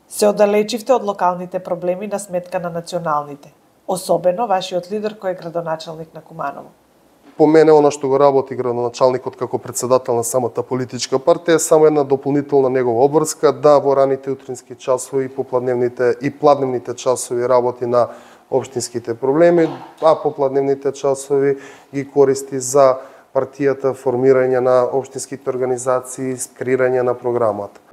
Се оддалечивте од локалните проблеми на сметка на националните, особено вашиот лидер кој е градоначалник на Куманово. По мене, она што го работи градоначалникот како претседател на самата политичка партија е само една дополнителна негова обврска да во раните утрински часови, попладневните и пладневните часови работи на општинските проблеми, а попладневните часови ги користи за партијата, формирање на општинските организации, креирање на програмата.